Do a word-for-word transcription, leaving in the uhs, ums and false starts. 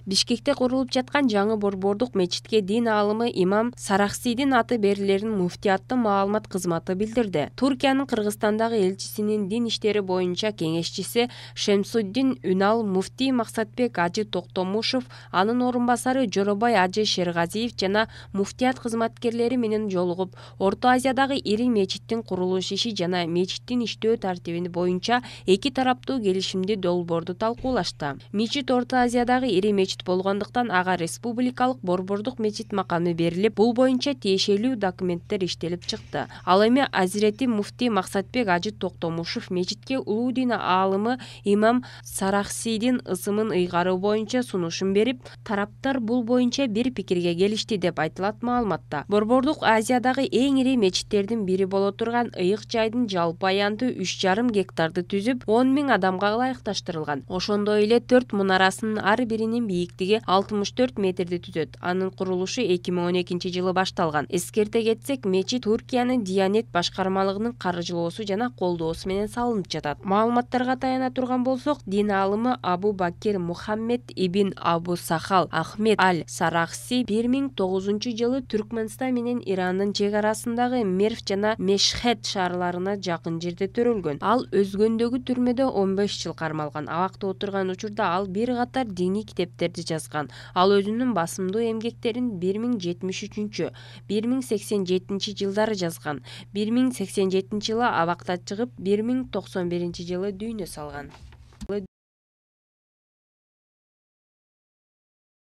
Бишкекте курулуп жаткан жаңы борбордук мечитке дин аалымы имам Сарахсийдин аты берилерин муфтияттын маалымат кызматы билдирди. Туркиянын Кыргызстандагы элчисинин дин иштери боюнча кеңешчиси Шемсуддин Үнал муфтий Максатбек Ажы Токтомушев, анын орун басары Жоробай Ажы Шергазиев жана муфтият кызматкерлери менен жолугуп, Орто Азиядагы ири мечиттин курулуш иши жана мечиттин иштөө тартиби боюнча эки тараптуу келишимди долбоорду талкуулашты. Мечит Орто Азиядагы ири мечит болгондуктан ага республикалык борбордук мечит макамы берилип, бул боюнча тиешелүү документтер иштелип чыкты. Ал эми Азирети муфтий Максатбек Ажы Токтомушев мечитке улуу дин аалымы имам Сарахсийдин ысымын ыйгаруу боюнча сунушун берип, тараптар бул боюнча бир пикирге келишти деп айтылат маалыматта. Борбордук Азиядагы эң ири мечиттердин бири боло турган ыйык жайдын жалпы аянты үч жарым гектарды түзүп, он миң адамга ылайыкташтырылган. Ошондой эле төрт мунарасынын ар биринин бийиктиги алтымыш төрт метрди түзөт. Анын курулушу эки миң он экинчи жылы башталган. Эскерте кетсек, мечит Туркиянын Диянет башкармалыгынын каржылоосу жана колдоосу менен салынып жатат. Маалыматтарга таяна турган болсок, дин аалымы Абу Бакир Мухаммед ибн Абу Сахал Ахмед аль-Сарахси бир миң тогузунчу жылы Түркмөнстан менен Ирандын чек арасындагы Мерв жана Мешхед шаарларына жакын жерде төрөлгөн. Ал өзгөндөгү түрмөдө он беш жыл кармалган. Абакта отурган учурда ал бир катар диний китептерди жазган. Ал өзүнүн басымдуу эмгектерин бир миң жетимиш үчүнчү, бир миң сексен жетинчи жылдары жазган. бир миң сексен жетинчи жылы абактан чыгып, бир миң токсон биринчи жылы дүйнө салган.